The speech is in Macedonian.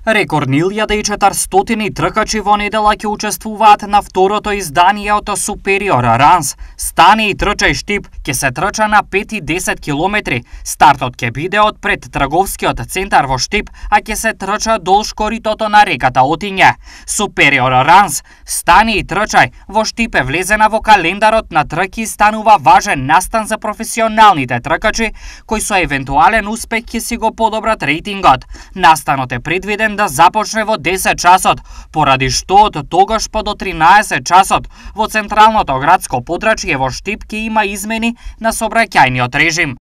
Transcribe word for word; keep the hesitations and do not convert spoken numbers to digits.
Рекордни илјада и четиристотини тркачи во недела ќе учествуваат на второто издание од Superior Runs. Стани и трчај Штип ќе се трча на пет и десет километри. Стартот ќе биде од пред трговскиот центар во Штип, а ќе се трча долж коритото на реката Отиња. Superior Runs, Стани и трчај во Штип е влезена во календарот на трки и станува важен настан за професионалните тркачи кои со евентуален успех ќе си го подобрат рейтингот. Настанот е предвиден да започне во десет часот, поради што од тогаш па до тринаесет часот во централното градско подрачје во Штип ќе има измени на сообраќајниот режим.